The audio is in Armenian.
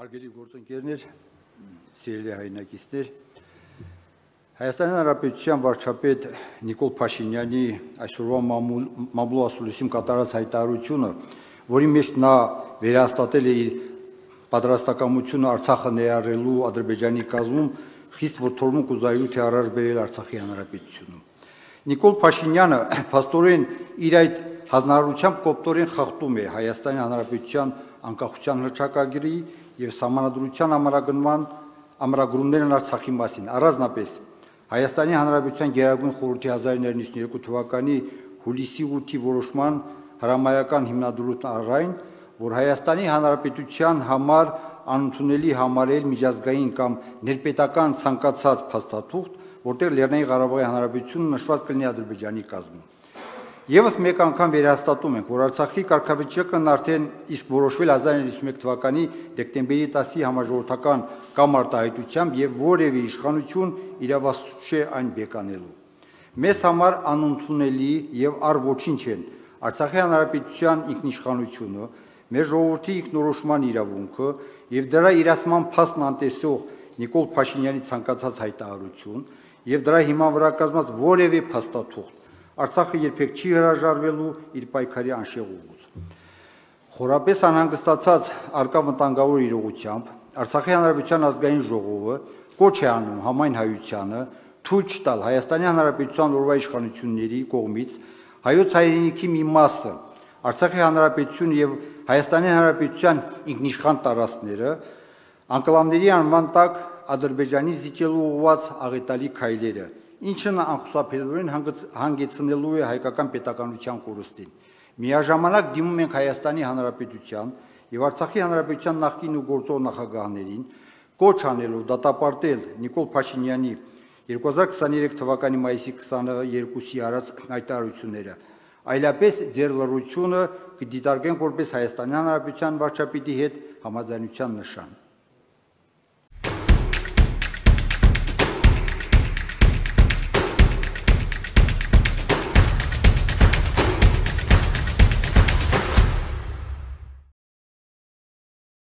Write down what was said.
Հարգելի գործընկերներ, սիրելի հայրենակիցներ, Հայաստանի Հանրապետության վարչապետ Նիկոլ Փաշինյանի այսօրվա մամուլի ասուլիսում կատարած հայտարարությունը, որի մեջ նա վերահաստատել է իր պատրաստակամությունը Արցախը ներառելու Ադրբեջանի կազմում, խիստ որդորմունք ու զայրույթ է առաջ բերել Արցախի Հանրապետությունում։ Նիկոլ Փաշինյանը փաստորեն իր այդ հանրահարությամբ կոպտորեն խախտում է Հայաստանի Հանրապետության անկախության հռչակագրի եւ Սահմանադրության ամրագրումներն Արցախի մասին, առանձնապես Հայաստանի Հանրապետության Գերագույն խորհրդի 1992 թվականի հուլիսի 8-ի որոշման հրամայական հիմնադրումն առայն, որ Հայաստանի Հանրապետության համար անընդունելի համարել միջազգային կամ ներպետական ցանկացած փաստաթուղթ, որտեղ Լեռնային Ղարաբաղի Հանրապետությունը նշված կլինի Ադրբեջանի կազմում։ Եվս մեկ անգամ վերահաստատում ենք, որ Արցախի կարգավիճակն արդեն իսկ որոշվել 1991 թվականի դեկտեմբերի 10-ի համաժողովրդական կամ արտահայտությամբ եւ որևէ իշխանություն իրավասու չէ այն բեկանելու։ Մեզ համար անընդունելի եւ առ ոչինչ են Արցախի Հանրապետության ինքնիշխանությունը, մեր ժողովրդի ինքնորոշման իրավունքը եւ դրա իրացման փաստն անտեսող Նիկոլ Փաշինյանի ցանկացած հայտարարություն եւ դրա հիման վրա կազմած որևէ փաստաթուղթ Արցախը երբեք չի հրաժարվելու իր պայքարի անշեղ ուղուց։ Խորապես անհանգստացած արկա վտանգավոր իրողությամբ Արցախի Հանրապետության ազգային ժողովը կոչ է անում համայն հայությանը թույլ չտալ Հայաստանի Հանրապետության օրվա իշխանությունների կողմից հայոց հայրենիքի մի մասը Արցախի Հանրապետություն եւ Հայաստանի Հանրապետության ինքնիշխան տարածքները անկլավների անվան տակ Ադրբեջանի զիջելու ուղղված աղետալի քայլերը, ինչը անխուսափելիորեն հանգեցնելու է հայկական պետականության կորուստին։ Միաժամանակ դիմում ենք Հայաստանի Հանրապետության եւ Արցախի Հանրապետության նախկին ու գործող նախագահներին կոչ անելով դատապարտել Նիկոլ Փաշինյանի 2023 թվականի մայիսի 22-ի արած հայտարարությունները, այլապես ձեր լռությունը կդիտարկենք որպես Հայաստանի Հանրապետության վարչապետի հետ համաձայնության նշան։